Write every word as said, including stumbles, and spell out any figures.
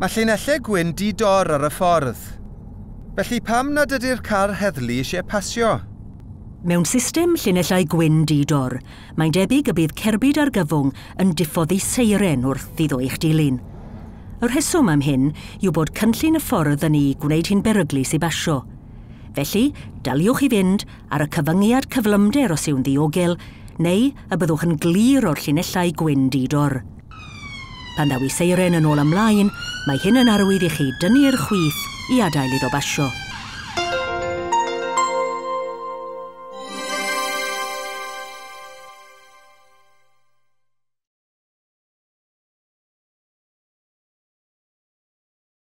Mae llinellau gwyn di-dor ar y ffordd. Felly pam nad ydy'r car heddlu eisiau pasio? Mewn system llinellau gwyn di-dor, mae'n debyg y bydd cerbyd argyfwng yn diffoddi seiren wrth iddo eich dilyn. Y rheswm am hyn yw bod cynllun y ffordd yn ei gwneud hi'n beryglus i basio. Felly, daliwch i fynd ar y cyfyngiad cyflymder os yw'n ddiogel, neu y byddwch yn glir o'r llinellau gwyn di-dor. Pan ddaw ei seiren yn ôl ymlaen, mae hyn yn arwydd i chi dynnu'r chwith i adael iddo basio.